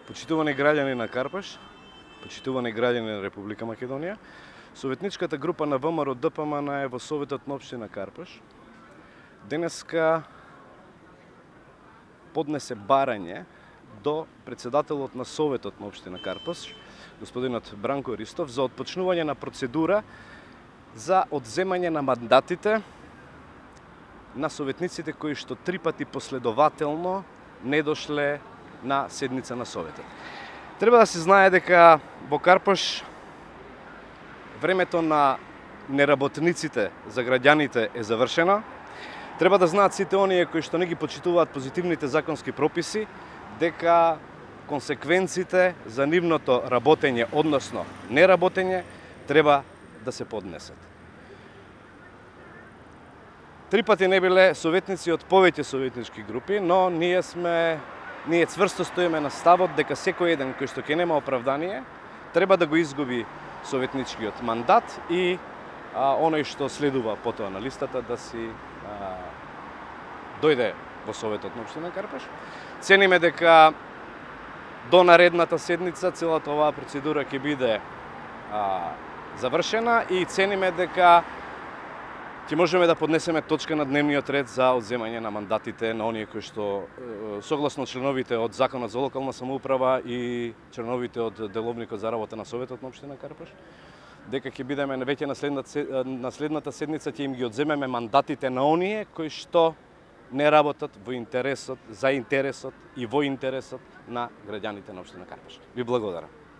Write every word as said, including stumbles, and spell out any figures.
Почитувани граѓани на Карпаш, почитувани граѓани на Република Македонија, советничката група на ВМРО-ДПМН е во Советот на општина Карпаш. Денеска поднесе барање до председателот на Советот на општина Карпаш, господинот Бранко Ристов, за отпочнување на процедура за одземање на мандатите на советниците кои што три пати последователно не дошле на седница на Советот. Треба да се знае дека во Карпаш времето на неработниците за граѓаните е завршено. Треба да знаат сите оние кои што не ги почитуваат позитивните законски прописи, дека консеквенците за нивното работење, односно неработење, треба да се поднесат. Три пати не биле советници од повеќе советнички групи, но ние сме ние цврсто стоиме на ставот дека секој еден кој што ќе нема оправдание треба да го изгуби советничкиот мандат и а, оној што следува потоа на листата да си а, дојде во Советот на општина Карпаш. Цениме дека до наредната седница целата оваа процедура ќе биде а, завршена и цениме дека ќе можеме да поднесеме точка на дневниот ред за одземање на мандатите на оние кои што согласно членовите од Законот за локална самоуправа и членовите од Деловникот за работа на Советот на општина Карпаш, дека ќе бидеме веќе на следната, на следната седница ќе им ги одземеме мандатите на оние кои што не работат во интересот, за интересот и во интересот на граѓаните на општина Карпаш. Ви благодарам.